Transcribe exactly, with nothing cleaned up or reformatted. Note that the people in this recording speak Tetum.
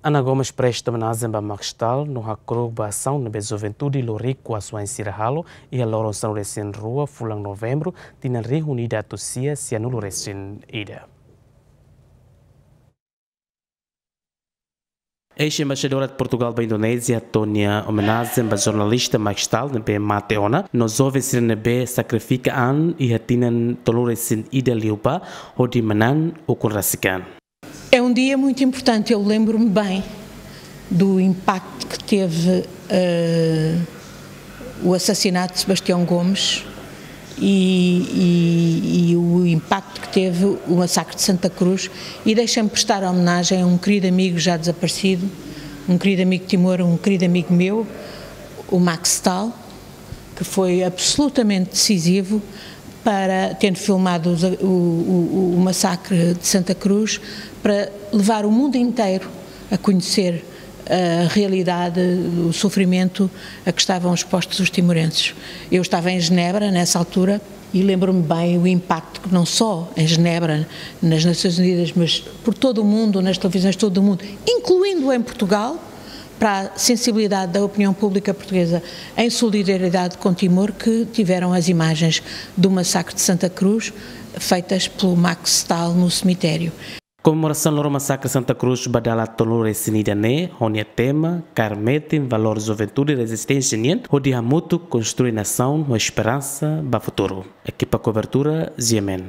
Ana Gomes presta omenajen ba Max Stahl no hakru'uk ba asaun ne'ebé juventude Loriku Asuain sira halo iha loron sanulu-resin-rua fulan Novembru, tinan rihun ida atus sia sianulu-resin-ida. Eis-embaixadora Portugal ba Indonézia hato'o nia omenajen ba jornalista Max Stahl ne'ebé mate ona, no joven sira ne'ebé sakrifika an iha tinan tolu-resin-ida liubá hodi manán ukun rasik an. É um dia muito importante, eu lembro-me bem do impacto que teve, eh, o assassinato de Sebastião Gomes e, e, e o impacto que teve o massacre de Santa Cruz. E deixa-me prestar homenagem a um querido amigo já desaparecido, um querido amigo de Timor, um querido amigo meu, o Max Stahl, que foi absolutamente decisivo para, tendo filmado os, o, o, o massacre de Santa Cruz, para levar o mundo inteiro a conhecer a realidade, o sofrimento a que estavam expostos os timorenses. Eu estava em Genebra nessa altura e lembro-me bem o impacto que não só em Genebra, nas Nações Unidas, mas por todo o mundo, nas televisões de todo o mundo, incluindo em Portugal, para a sensibilidade da opinião pública portuguesa em solidariedade com Timor, que tiveram as imagens do massacre de Santa Cruz feitas pelo Max Stahl no cemitério. Komemorasaun loron masakre Santa Cruz ba dala tolu-resin-ida ne'e ho nia tema kaer metin valór juventude rezisténsia nian hodi hamutuk konstrui nasaun ho esperansa ba futuru. Ekipa kobertura, G M N.